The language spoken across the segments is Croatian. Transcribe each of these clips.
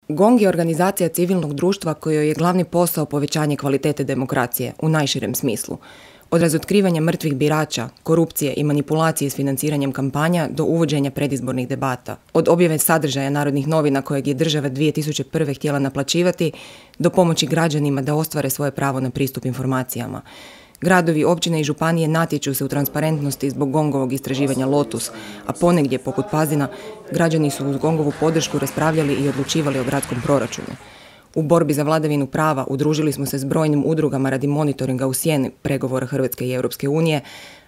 GONG je organizacija civilnog društva kojoj je glavni posao povećanje kvalitete demokracije u najširem smislu. Od razotkrivanja mrtvih birača, korupcije i manipulacije s financiranjem kampanja do uvođenja predizbornih debata. Od objave sadržaja Narodnih novina kojeg je država 2001. htjela naplaćivati do pomoći građanima da ostvare svoje pravo na pristup informacijama. Gradovi, općine i županije natječu se u transparentnosti zbog GONG-ovog istraživanja Lotus, a ponegdje, poput Pazina, građani su uz GONG-ovu podršku raspravljali i odlučivali o gradskom proračunu. U borbi za vladavinu prava udružili smo se s brojnim udrugama radi monitoringa u sjeni pregovora Hrvatske i Europske unije,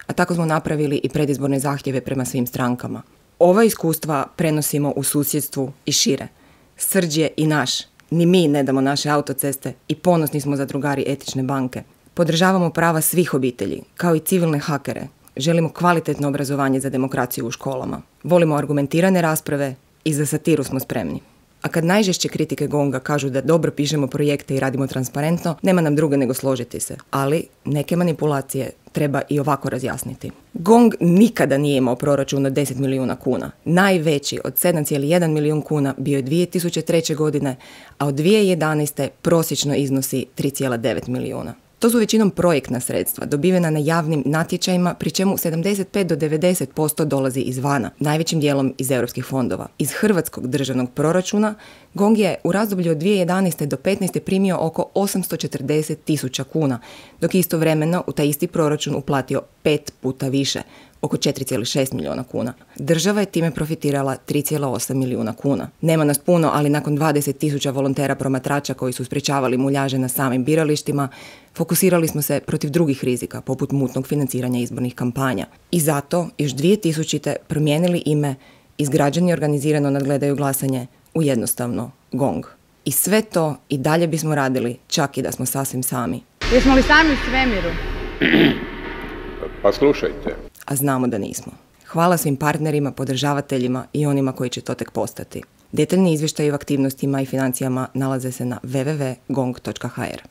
a tako smo napravili i predizborne zahtjeve prema svim strankama. Ova iskustva prenosimo u susjedstvu i šire. Srđ je i naš. Ni mi ne damo naše autoceste i ponosni smo zadrugari Etične banke. Podržavamo prava svih obitelji, kao i civilne hakere. Želimo kvalitetno obrazovanje za demokraciju u školama. Volimo argumentirane rasprave i za satiru smo spremni. A kad najžešće kritike GONG-a kažu da dobro pišemo projekte i radimo transparentno, nema nam druge nego složiti se. Ali neke manipulacije treba i ovako razjasniti. GONG nikada nije imao proračun od 10 milijuna kuna. Najveći od 7,1 milijun kuna bio je 2003. godine, a od 2011. prosječno iznosi 3,9 milijuna. To su većinom projektna sredstva, dobivena na javnim natječajima, pri čemu 75 do 90% dolazi izvana, najvećim dijelom iz europskih fondova. Iz hrvatskog državnog proračuna GONG je u razdoblju od 2011. do 2015. primio oko 840.000 kuna, dok je istovremeno u taj isti proračun uplatio 5 puta više, oko 4,6 milijuna kuna. Država je time profitirala 3,8 milijuna kuna. Nema nas puno, ali nakon 20.000 volontera promatrača koji su sprječavali muljaže na samim biralištima, fokusirali smo se protiv drugih rizika, poput mutnog financiranja izbornih kampanja. I zato još 2000. promijenili ime iz Građani organizirano nadgledaju glasanje u jednostavno GONG. I sve to i dalje bismo radili, čak i da smo sasvim sami. Jesmo li sami u svemiru? Pa slušajte. A znamo da nismo. Hvala svim partnerima, podržavateljima i onima koji će to tek postati. Detaljni izvještaji o aktivnostima i financijama nalaze se na www.gong.hr.